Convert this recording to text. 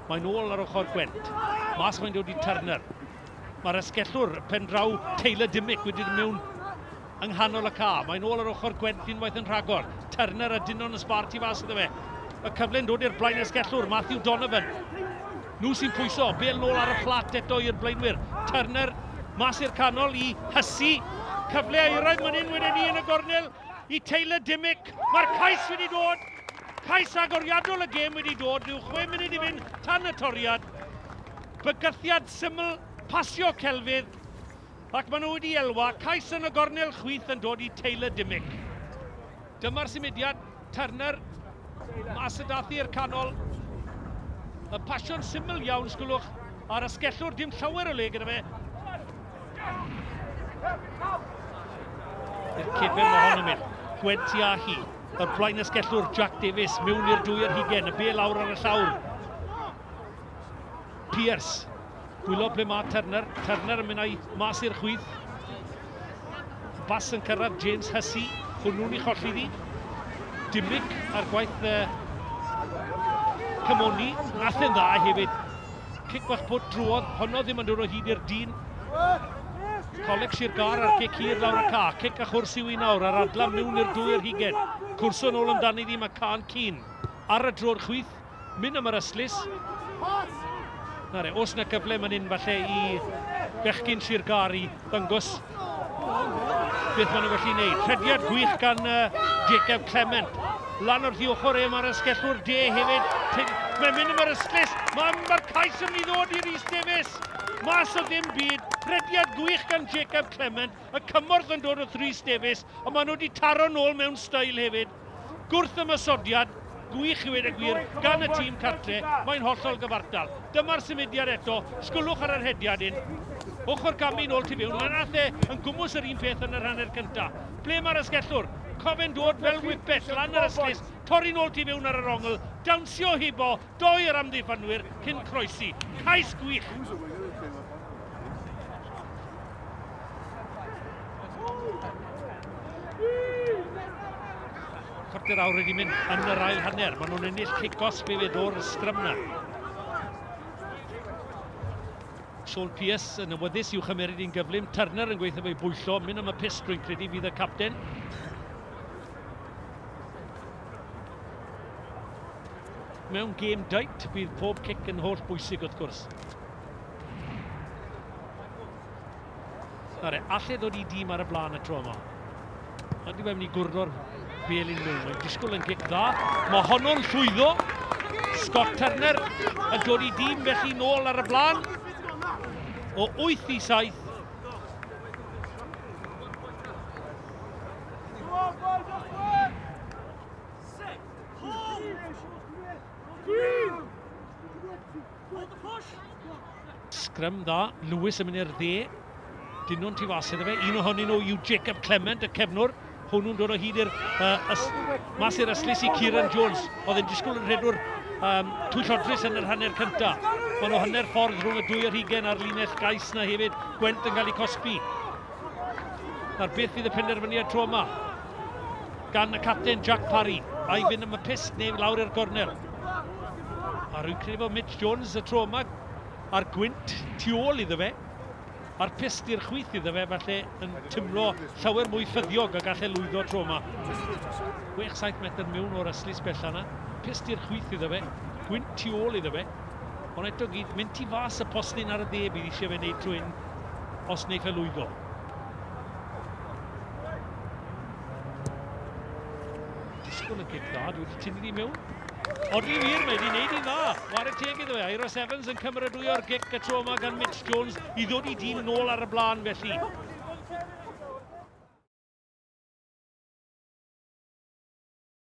Mae'n ôl ar ochr Gwent. Mas mae'n dod i Turner. Mae'r asgellwr pendraw Taylor Dimmick wedi dod mewn yng nghanol y ca. Mae'n ôl ar ochr Gwent unwaith yn rhagor. Turner a Dinon yn sbar tu fas iddo fe. Y cyfle'n dod i'r blaen asgellwr, Matthew Donovan. Nhw sy'n pwyso, bel nôl ar y plat eto i'r blaenwyr. Turner mas i'r canol i Hussey. Cyfle euraidd man hyn wedyn ni yn y gornel i Taylor Dimmick. Mae'r cais wedi dod. Cais agoriadol y gêm wedi dod. Rhyw 6 munud i fynd tan y toriad. Bygythiad syml, pasio celfydd. Ac maen nhw wedi elwa. Cais yn y gornel chwith yn dod i Taylor Dimmick. Dyma'r symudiad. Turner mas y dath i'r canol. Y pasio'n syml iawn, sgwlwch, a'r asgellwr dim llawer o le gyda fe. I'r cefen mae hon yn mynd. Gwent i a hi. Y blaen asgellwr Jack Davies mewn i'r 22, y bel lawr ar y llawr. Pierce. Gwylo ble mae Turner. Turner yn mynd â'i mas i'r chwith. Bas yn cyrraedd James Hussey. Hwnnw'n ei cholli ddi. Dimmick ar gwaith Cymoni. Nath e'n dda hefyd. Cic bach pwt drwodd. Honno ddim yn dod o hyd i'r dyn. Coleg Sir Gâr ar gic hir lawr y ca. Cic a chwrs i'w un awr ar adlam mewn i'r 22. Cwrso nôl amdani ddi mae Can Cyn. Ar y dro'r chwith. Mynd am yr ystlys. Na re, os na gyfle man hyn falle i bechgyn Sir Gâr i ddangos beth maen nhw'n gallu gwneud. Rhediad gwych gan Jacob Clement. Lan o'r ochr e, mae'r asgellwr de hefyd. Mae'n mynd am yr ystlys. Mae'r ma cais yn mynd i ddod i Rhys Davies. Mas o ddim byd. Rhediad gwych gan Jacob Clement. Y cymorth yn dod wrth Rhys Davies. Ond maen nhw wedi taro nôl mewn stael hefyd. Gwrth ymosodiad gwych i weud y gwir gan y tîm cartre, mae'n hollol gyfartal. Dyma'r symudiad eto, sgwlwch ar yr hediad un. Ochr gamu nôl tu fewn, mae'n nath e yn gwmws yr un peth yn yr hanner cynta. Ble mae'r asgellwr? Cofen dod fel whippet lan yr ystlys, torri nôl tu fewn ar yr ongl, dawnsio hibo, doi yr amddiffynwyr cyn croesi. Cais gwych! Chwarter awr wedi mynd yn yr ail hanner. Maen nhw'n ennill cic-osb hefyd o'r sgrym na. Sean Pearce yn awyddus i'w chymeryd i'n gyflym. Turner yn gweithio fe'i bwyllo. Mynd am y pyst rwy'n credu fydd y capten. Mewn gêm dait bydd pob cic yn holl bwysig wrth gwrs. Nawr e, alle ddod i dîm ar y blaen y tro yma. Ydy fe'n mynd i gwrdo'r bel i'n mewn. Mae'n disgwyl yn gic dda. Mae honno'n llwyddo. Scott Turner yn dod i dîm felly nôl ar y blaen. O 8 i 7. Sgrym dda, Lewis yn mynd i'r dde. Dyn nhw'n tu fas iddo fe. Un ohonyn nhw yw Jacob Clement, y cefnwr. Hwnnw'n dod o hyd i'r mas i'r ystlys i Kieran Jones. Oedd e'n disgwyl yn rhedwr twyllodrus yn yr hanner cyntaf. Maen nhw hanner ffordd rhwng y 22 a'r linell gais na hefyd. Gwent yn cael ei cosbi. Nawr beth fydd y penderfyniad tro yma? Gan y capten Jack Parry. A'i fynd am y pyst neu lawr i'r gornel. A rwy'n credu bod Mitch Jones y tro yma a'r gwynt tu ôl iddo fe, a'r pyst i'r chwith iddo fe, falle yn tymlo llawer mwy ffyddiog a gallai lwyddo tro yma. 6-7 metr mewn o'r ystlys bella yna, pyst i'r chwith iddo fe, gwynt tu ôl iddo fe, ond eto gyd, mynd tu fas y postyn ar y dde bydd eisiau fe wneud trwy hyn os wneith e lwyddo. Disgwyl yn gic dda, dwi wedi tynnu di mewn. Odi wir, mae wedi wneud i'n dda. Ware teg iddo fe. Iros Evans yn cymeradwyo'r gic y tro yma gan Mitch Jones i ddod i dîm nôl ar y blaen felly.